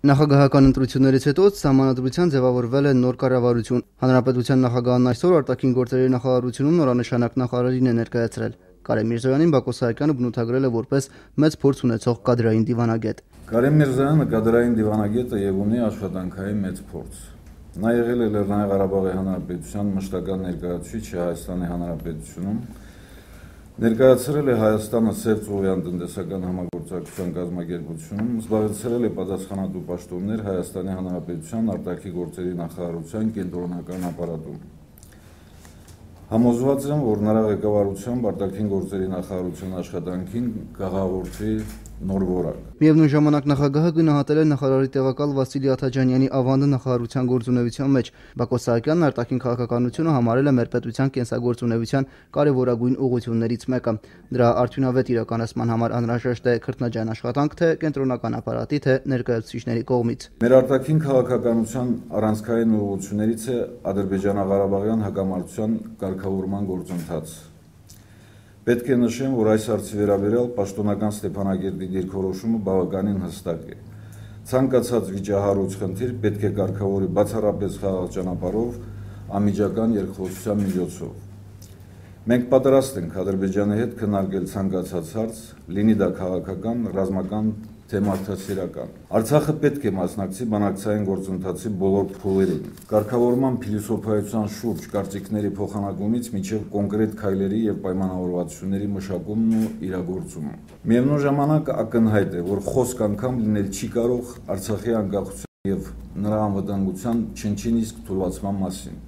Նախագահական ընտրություններից հետո սահմանադրության ձևավորվել է նոր կառավարություն։ Հանրապետության նախագահն այսօր արտաքին գործերի նախարարությունում նորանշանակ նախարարին է ներկայացրել։ Կարեն Միրզոյանին Բակո Սահակյանը բնութագրել է որպես մեծ փորձ ունեցող կադրային դիվանագետ։ Կարեն Միրզոյանը կադրային դիվանագետ է եւ ունի աշխատանքային մեծ փորձ։ Նա եղել է Լեռնային Ղարաբաղի Հանրապետության մշտական ներկայացուցիչը Հայաստանի Հանրապետությունում, ներկայացրել է Հայաստանը Սև-Ծովյան տնտեսական համագործակցության կազմակերպությունում, զբաղեցրել է պատասխանատու պաշտոններ Հայաստանի Հանրապետության արտաքին գործերի նախարարության կենտրոնական ապարատում։ Համոզված եմ, որ նրա ղեկավարությամբ արտաքին գործերի նախարարության աշխատանքին կհաղորդի նոր որակ։ Միևնույն ժամանակ նախագահը գնահատել է նախարարի տեղակալ Վասիլի Աթաջանյանի ավանդը նախարարության գործունեության մեջ։ Բակո Սահակյանն արտաքին քաղաքականությունը համարել է մեր պետության կենսագործունեության կարևորագույն ուղղություններից մեկը։ Դրա արդյունավետ իրականացման համար անհրաժեշտ է քրտնաջան աշխատանք թե կենտրոնական ապարատի, թե ներկայացուցիչների կողմից։ Մեր արտաքին քաղաքականության առանցքային ուղղություններից է ադրբեջանա-ղարաբաղյան հակամարտության կարգավորման գործընթաց։ Պետք է նշեմ, որ այս հարցի վերաբերյալ պաշտոնական Ստեփանագերտի դիրքորոշումը բավականին հստակ է։ Ցանկացած վիճահարույց խնդիր պետք է կարգավորի բացառապես խաղաղ ճանապարհով, անմիջական երկխոսության միջոցով։ Մենք պատրաստ ենք Ադրբեջանի հետ քննարկել ցանկացած հարց, լինի դա քաղաքական, ռազմական, թե մարդասիրական։ Արցախը պետք է մասնակցի բանակցային գործընթացի բոլոր փուլերին։ Կարգավորման փիլիսոփայության շուրջ կարծիքների փոխանակումից մինչև կոնկրետ քայլերի եւ պայմանավորվածությունների մշակումն ու իրագործումը։ Միևնույն ժամանակ ակնհայտ է, որ խոսք անգամ լինել չի կարող Արցախի անկախության եւ նրա անվտանգության չնչին իսկ թուլացման մասին։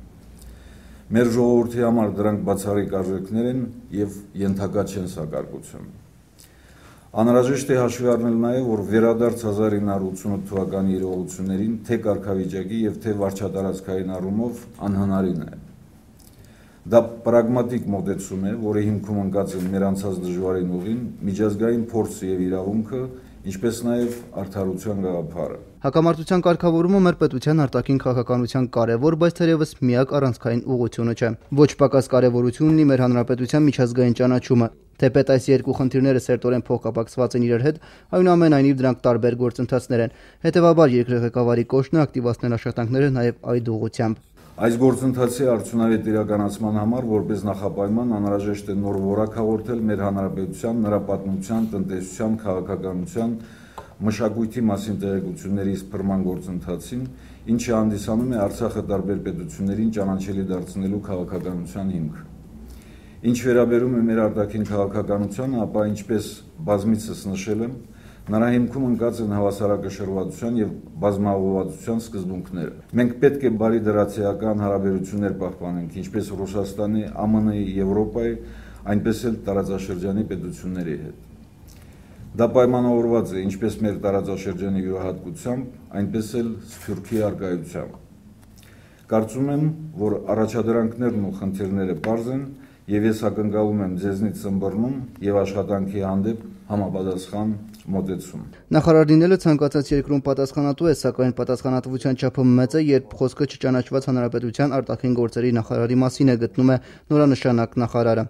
Մեր ժողովրդի համար դրանք բացառիկ արժեքներ են եւ ենթակա չեն սակարկություն։ Անհրաժեշտ է հաշվի առնել նաև, որ վերադարձ 1988 թվականի իրողություններին թե կարգավիճակի եւ թե վարչատարածքային առումով անհնարին է։ Դա պրագմատիկ մոտեցում է, որի հիմքում ընկած են մեր անցած դժվարին ուղին, միջազգային փորձը եւ իրավունքը, ինչպես նաև արդարության գաղափարը։ Հակամարտության կարգավորումը մեր պետության արտաքին քաղաքականության կարևոր, բայց թերևս միակ առանցքային ուղղությունը չէ։ Ոչ պակաս կարևորություն ունի մեր հանրապետության միջազգային ճանաչումը։ Թեպետ այս երկու խնդիրները սերտորեն փոխկապակցված են իրար հետ, այնուամենայնիվ դրանք տարբեր գործընթացներ են։ Հետևաբար երկրի ղեկավարի կոչն է ակտիվացնել աշխատանքները նաև այդ ուղղությամբ։ Այս գործընթացի արդյունավետ իրականացման համար որպես նախապայման անհրաժեշտ է նոր որակ հաղորդել մեր հանրապետության, նրա պատմության, տնտեսության, քաղաքականության, մշակույթի մասին տեղեկությունների սփռման գործընթացին, ինչը հանդիսանում է Արցախը տարբեր պետություններին ճանաչելի դարձնելու քաղաքականության հիմք։ Ինչ վերաբերում է մեր արտաքին քաղաքականությանը, ապա ինչպես բազմիցս նշել եմ, նրա հիմքում ընկած են հավասարակշռվածության եւ բազմաուղղվածության սկզբունքները։ Մենք պետք է բարի դրացիական հարաբերություններ պահպանենք ինչպես Ռուսաստանի, ԱՄՆ-ի, Եվրոպայի, այնպես էլ տարածաշրջանի պետությունների հետ։ Դա պայմանավորված է ինչպես մեր տարածաշրջանի յուրահատկությամբ, այնպես էլ Սփյուռքի առկայությամբ։ Կարծում եմ, որ առաջադրանքներն ու խնդիրները պարզ են եւ ես ակնկալում եմ ձեզնից ըմբռնում եւ աշխատանքի հանդեպ համապատասխան մոտեցում։ Նախարար լինելը ցանկացած երկրում պատասխանատու է, սակայն պատասխանատվության չափը մեծ է, երբ խոսքը չճանաչված հանրապետության արտաքին գործերի նախարարի մասին է, գտնում է նորանշանակ նախարարը։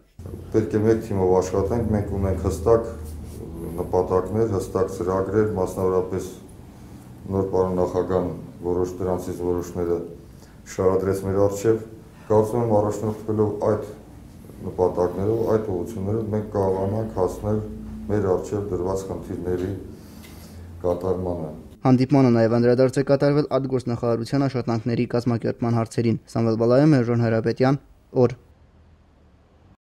Պետք է մեկ թիմով աշխատենք, մենք ունենք հստակ նպատակներ, հստակ ծրագրեր, մասնավորապես նոր պարոն նախագահան որոշ դրանցից որոշները շարադրեց մեր առջև։ Կարծում եմ առաջնորդվելով այդ նպատակներով, այդ ուղղություններով մենք կարողանանք հասնել մեր առջև դրված խնդիրների կատարմանը։ Հանդիպմանը նաև անդրադարձ է կատարվել արտգործնախարարության աշխատանքների կազմակերպման հարցերին։ Սամվել Բալայան, Մերժոն Հրապետյան, օր։